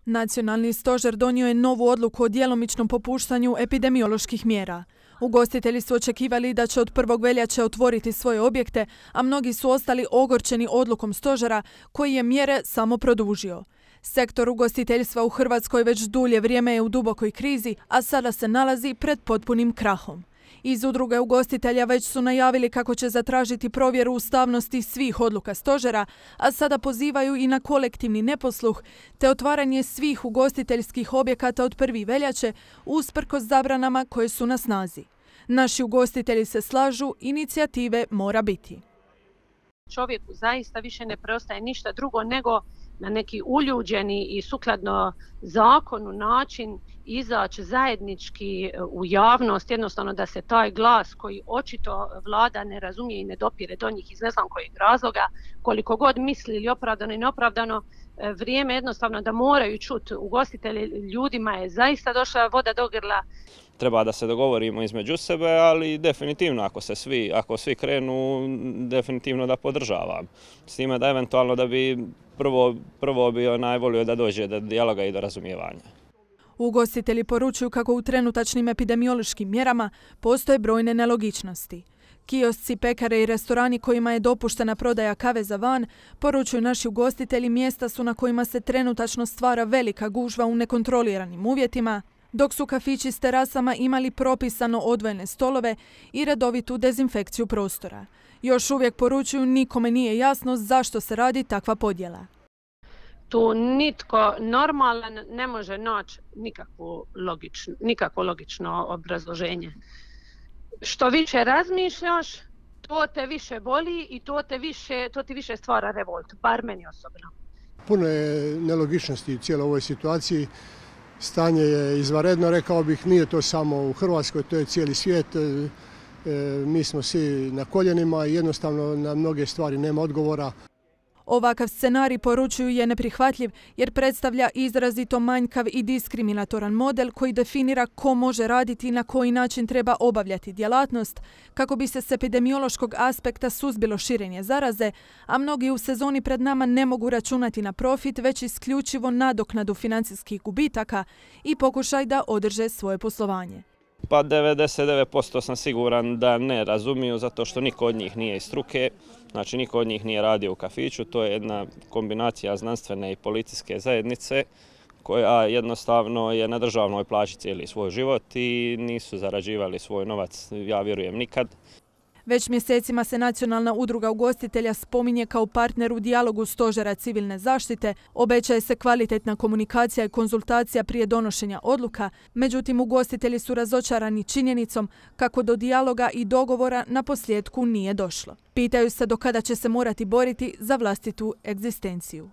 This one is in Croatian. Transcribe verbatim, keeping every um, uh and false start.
Nacionalni stožer donio je novu odluku o djelomičnom popuštanju epidemioloških mjera. Ugostitelji su očekivali da će od prvog veljače otvoriti svoje objekte, a mnogi su ostali ogorčeni odlukom stožera koji je mjere samo produžio. Sektor ugostiteljstva u Hrvatskoj već dulje vrijeme je u dubokoj krizi, a sada se nalazi pred potpunim krahom. Iz udruge ugostitelja već su najavili kako će zatražiti provjeru ustavnosti svih odluka stožera, a sada pozivaju i na kolektivni neposluh te otvaranje svih ugostiteljskih objekata od prvog veljače usprkos zabranama koje su na snazi. Naši ugostitelji se slažu, inicijative mora biti. Čovjeku zaista više ne preostaje ništa drugo nego na neki uljuđeni i sukladno zakonu način izaći zajednički u javnost, jednostavno da se taj glas koji očito vlada ne razumije i ne dopire do njih iz ne znam kojeg razloga, koliko god misli ili opravdano i neopravdano, vrijeme jednostavno da moraju čuti ugostitelji, ljudima je zaista došla voda do grla. Treba da se dogovorimo između sebe, ali definitivno ako se svi, ako svi krenu, definitivno da podržavam. S time da eventualno da bi prvo, prvo bi najvolio da dođe do dijaloga i do razumijevanja. Ugostitelji poručuju kako u trenutačnim epidemiološkim mjerama postoje brojne nelogičnosti. Kiosci, pekare i restorani kojima je dopuštena prodaja kave za van, poručuju naši ugostitelji, mjesta su na kojima se trenutačno stvara velika gužva u nekontroliranim uvjetima, dok su kafići s terasama imali propisano odvojene stolove i redovitu dezinfekciju prostora. Još uvijek poručuju, nikome nije jasno zašto se radi takva podjela. Tu nitko normalan ne može naći nikakvo logično, nikakvo logično obrazloženje. Što više razmišljaš, to te više boli i to, te više, to ti više stvara revolt, bar meni osobno. Puno je nelogičnosti u cijeloj ovoj situaciji. Stanje je izvanredno, rekao bih, nije to samo u Hrvatskoj, to je cijeli svijet. Mi smo svi na koljenima i jednostavno na mnoge stvari nema odgovora. Ovakav scenarij, poručuju, je neprihvatljiv jer predstavlja izrazito manjkav i diskriminatoran model koji definira ko može raditi i na koji način treba obavljati djelatnost kako bi se s epidemiološkog aspekta suzbilo širenje zaraze, a mnogi u sezoni pred nama ne mogu računati na profit, već isključivo nadoknadu financijskih gubitaka i pokušaj da održe svoje poslovanje. Pa devedeset devet posto sam siguran da ne razumiju, zato što niko od njih nije iz struke, znači niko od njih nije radio u kafiću. To je jedna kombinacija znanstvene i policijske zajednice koja jednostavno je na državnoj plaći cijeli svoj život i nisu zarađivali svoj novac, ja vjerujem, nikad. Već mjesecima se Nacionalna udruga ugostitelja spominje kao partner u dijalogu Stožera civilne zaštite, obećaje se kvalitetna komunikacija i konzultacija prije donošenja odluka, međutim ugostitelji su razočarani činjenicom kako do dijaloga i dogovora na posljedku nije došlo. Pitaju se do kada će se morati boriti za vlastitu egzistenciju.